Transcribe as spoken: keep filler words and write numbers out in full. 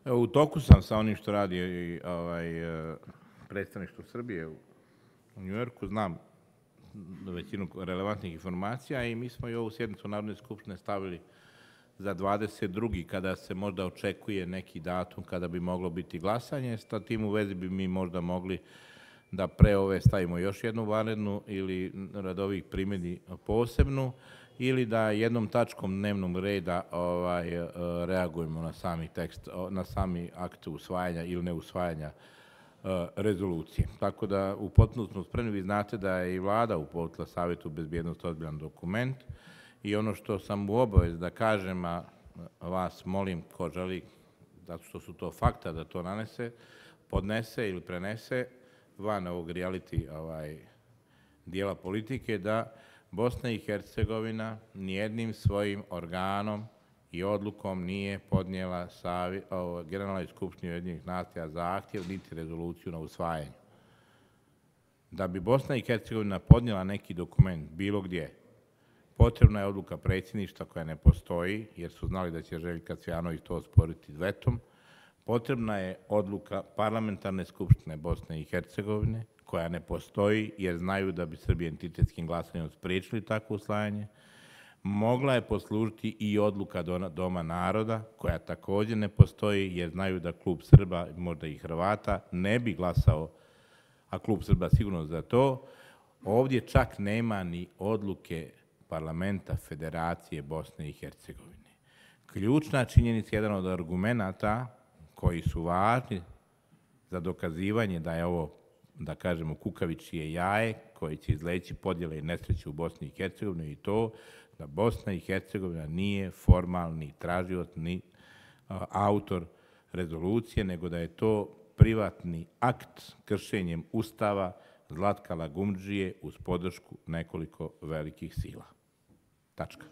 U toku sam sa onim što radi ovaj, predstavništvo Srbije u Njujorku, znam većinu relevantnih informacija i mi smo i ovu sjednicu Narodne skupštine stavili za dvadeset drugi kada se možda očekuje neki datum kada bi moglo biti glasanje. Sa tim u vezi bi mi možda mogli da pre ove stavimo još jednu vanrednu ili rad ovih primjedbi posebnu ili da jednom tačkom dnevnog reda ovaj, reagujemo na sami tekst, na sami akt usvajanja ili neusvajanja rezolucije. Tako da u potpunosti smo spremni. Vi znate da je i vlada uputila Savetu bezbjednosti ozbiljan dokument i ono što sam u obavezi da kažem, a vas molim ko želi, zato što su to fakta, da to nanese, podnese ili prenese van ovog reality ovaj, dijela politike, da Bosna i Hercegovina nijednim svojim organom i odlukom nije podnijela Generalnoj skupštini Ujedinjenih nacija zahtjev niti rezoluciju na usvajanju. Da bi Bosna i Hercegovina podnijela neki dokument bilo gdje, potrebna je odluka predsjedništva koja ne postoji, jer su znali da će Željka Cvijanović to osporiti vetom. Potrebna je odluka Parlamentarne skupštine Bosne i Hercegovine, koja ne postoji, jer znaju da bi Srbija entitetskim glasanjem spriječili takvo usvajanje. Mogla je poslužiti i odluka Doma naroda, koja također ne postoji, jer znaju da klub Srba, možda i Hrvata, ne bi glasao, a klub Srba sigurno za to. Ovdje čak nema ni odluke Parlamenta Federacije Bosne i Hercegovine. Ključna činjenica, jedan od argumenata koji su važni za dokazivanje da je ovo, da kažemo, kukavičije jaje koji će izleći podjele i nesreće u Bosni i Hercegovini i to da Bosna i Hercegovina nije formalni tražioc ni autor rezolucije, nego da je to privatni akt kršenjem Ustava Zlatka Lagumdžije uz podršku nekoliko velikih sila. Tačka.